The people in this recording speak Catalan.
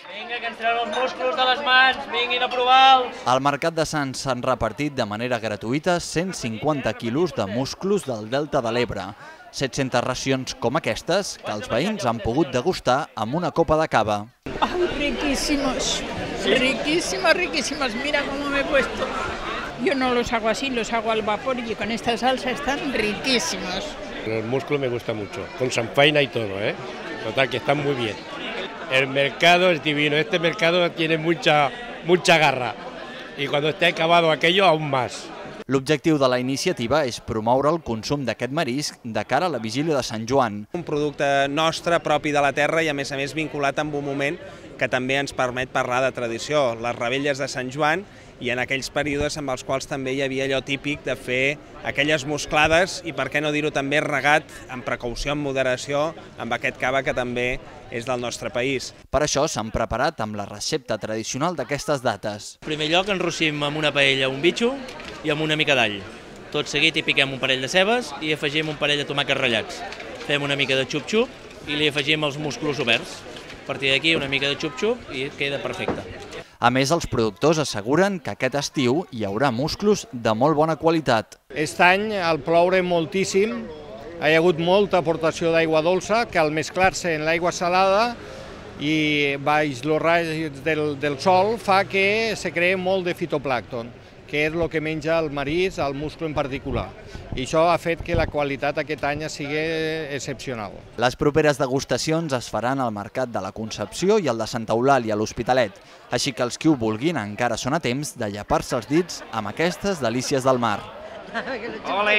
Vinga, que ens treuen els músculs de les mans, vinguin a provar-los. Al Mercat de Sants s'han repartit de manera gratuïta 150 quilos de musclos del Delta de l'Ebre. 700 racions com aquestes que els veïns han pogut degustar amb una copa de cava. ¡Ay, riquísimos! Riquísimos, riquísimos. Mira cómo me he puesto. Yo no los hago así, los hago al vapor y con esta salsa están riquísimos. El músculo me gusta mucho, con chanfaina y todo, ¿eh? Total, que están muy bien. El mercado es divino, este mercado tiene mucha garra y cuando esté acabado aquello aún más. L'objectiu de la iniciativa és promoure el consum d'aquest marisc de cara a la vigília de Sant Joan. Un producte nostre, propi de la terra i a més vinculat amb un moment que també ens permet parlar de tradició, les revetlles de Sant Joan, i en aquells períodes amb els quals també hi havia allò típic de fer aquelles musclades i, per què no dir-ho, també regat amb precaució, amb moderació, amb aquest cava que també és del nostre país. Per això s'han preparat amb la recepta tradicional d'aquestes dates. En primer lloc enrossim amb una paella un bitxo i amb una mica d'all. Tot seguit hi piquem un parell de cebes i afegim un parell de tomàquets ratllats. Fem una mica de xup-xup i li afegim els musclos oberts. A partir d'aquí una mica de xup-xup i queda perfecte. A més, els productors asseguren que aquest estiu hi haurà musclos de molt bona qualitat. Aquest any, al ploure moltíssim, hi ha hagut molta aportació d'aigua dolça que al mesclar-se en l'aigua salada i baix els raigs del sol fa que se creï molt de fitoplàncton, que és el que menja el marisc, el musclo en particular. I això ha fet que la qualitat aquest any sigui excepcional. Les properes degustacions es faran al Mercat de la Concepció i al de Santa Eulàlia, a l'Hospitalet, així que els qui ho vulguin encara són a temps de llepar-se els dits amb aquestes delícies del mar. Ole!